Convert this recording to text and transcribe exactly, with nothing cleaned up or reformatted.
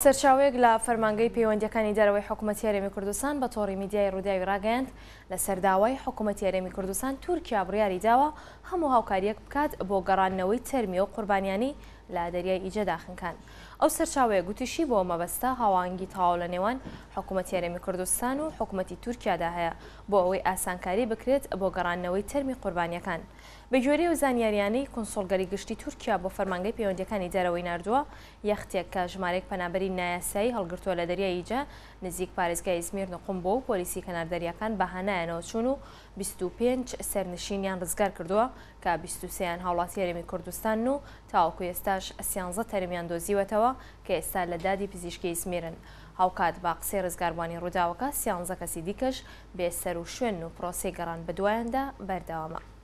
سەرچاوەیەک لە فەرمانگەی پەیوەندییەکانی دەرەوەی حکوومەتی هەرێمی کوردستان بە تۆڕی میدیای ڕووداوی ڕاگەیاند، لەسەر داوای حکوومەتی هەرێمی کوردستان تورکیا بڕیاری داوە هەموو هاوکارییەک بکات بۆ گەڕاندنەوەی تەرمی ئەو قوربانیانەی لە دەریای ئیجەدا خنکان. ئەو سەرچاوەیە گوتیشی بۆ مەبەستە هاوئاهەنگی تەواو لە نێوان حکوومەتی هەرێمی کوردستان و حکوومەتی تورکیادا هەیە بۆ ئەوەی ئاسانکاری بکرێت بۆ گەڕاندنەوەی تەرمی قوربانیەکان. بە گوێرەی ئەو زانیاریانەی کونسوڵگەری گشتی تورکیا بۆ فەرمانگەی پەیوەندیەکانی دەرەوەی ناردووە، یەختێک کە ژمارەیەک پەنابەری نایاسایی هەڵگرتووە لە دەریای ئیجە نزیک پارێزگای ئیزمیر نقوم بووە و پۆلیسی کەنار دەریاکان بە هانایانەوە چوون و بیست و پێنج سەرنشینیان ڕزگار کردووە کە بیست و سێیان هاوڵاتی هەرێمی کوردستانن و تاوەکو ئێستاش سیانزە تەرمیان دۆزیوەتەوە کە ئێستا لە دادی پزیشکی ئیزمیرن. هاوکات بە قسەی ڕزگاربووانی ڕووداوەکە سیانزە کەسی دیکەش بێ سەر و شوێن و پرۆسەی گەڕان بەدوایاندا بەردەوامە.